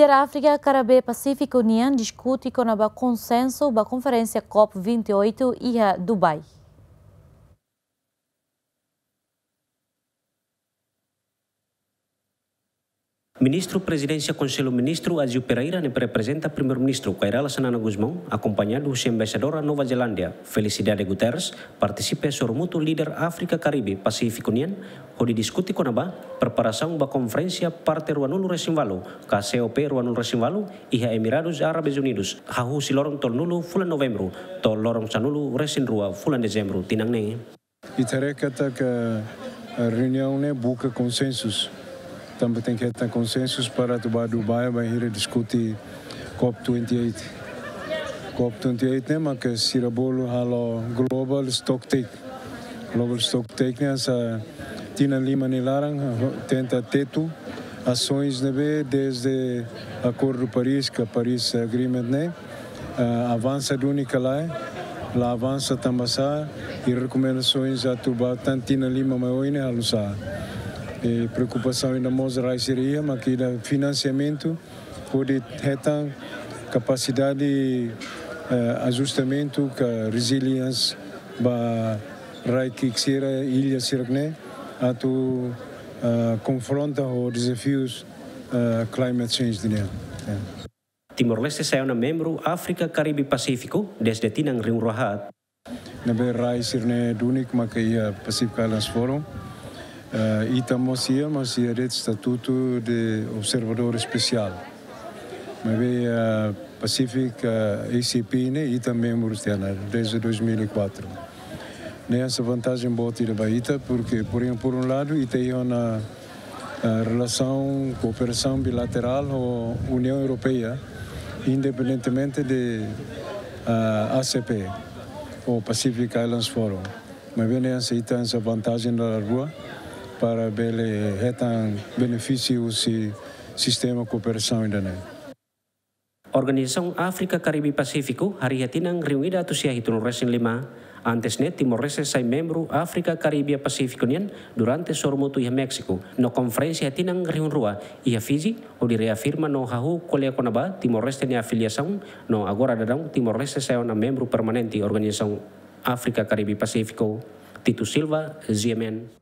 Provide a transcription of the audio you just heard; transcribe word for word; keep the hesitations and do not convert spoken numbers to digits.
Líder Áfrika, Karibe, Pasífiku nian diskute kona-ba konsensu ba konferénsia COP vinte e oito iha Dubai. Ministru Prezidénsia Konsellu Ministru Aziu Pereira, ne'ebé reprezenta Primeiru-Ministru Kay Rala Xanana Gusmão, akompañadu husi Embaixadora Nova Zelándia, Felicidade Guterres, partisipa sorumutu líder Áfrika, Karibe, Pasífiku nian, hodi diskute kona-ba preparasaun ba konferénsia parte ruanulu resin ualu, ka COP ruanulu resin ualu, iha Emiradus Árabes Unidus, hahú husi loron tolunulu fulan Novembru to'o loron sanulu resin rua fulan Dezembru tinan ne'e. Ita haree katak, eh, reuniaun ne'e buka konsensus. Tanba tenke hetan konsensus para atu bá Dubai, bainhira diskute COP twenty-eight. COP twenty-eight ne'e maka sira bolu halo Global Stocktake. Global Stocktake ne'e hanesan tinan lima nia laran, tenta tetu asaun ne'ebé desde Akordu Paris, ka Paris Agreement ne'e, ah, avansa duni ka lae, la avansa tanbasá, i rekomendasoens atu ba tan tinan lima mai oin ne'e halo sá. I preokupasaun ida mós rai sira iha, maka ida finansiamentu, hodi hetan kapasidade, eh, ajustamentu ka resilience ba rai ki'ik sira, illa sira ne'e, atu, eh, konfronta ho dezafius, eh, climate change nian. Eh. Timor-Leste sai ona membru Áfrika, Karibe, Pasífiku desde tinan rihun rua haat. Ne'ebé rai sira-ne'e duni maka iha Pacific Islands Forum. Eh, ita mós iha, mas iha de'it estatutu de observadór espesiál. Maibé, eh, Pacific, eh, A C P ne'e ita membru tiha ona desde dois mil e quatro. Ne'e hanesan vantajen boot ida ba ita, porque, por, por um lado, ita iha ona, eh, relasaun, kooperasaun bilaterál ho Uniaun Europeia, independentemente de, eh, A C P ou Pacific Islands Forum. Maibé ne'e hanesan ita hanesan vantajen dala rua para bele hetan benefísiu husi sistema kooperasaun ida-ne'e. Organizasaun Áfrika, Karibe, Pasífiku harii iha tinan rihun ida atus sia hitunulu resin lima. Antes ne'e, Timor-Leste sai membru Áfrika, Karibe, Pasífiku nian durante sorumutu iha Méxiku, no konferénsia iha tinan rihun rua iha Fiji, hodi reafirma no hahú ko'alia kona-ba Timor-Leste nia afiliasaun, no agora daudaun Timor-Leste sai ona membru permanente Organizasaun Áfrika, Karibe, Pasífiku. Tito Silva, G M N.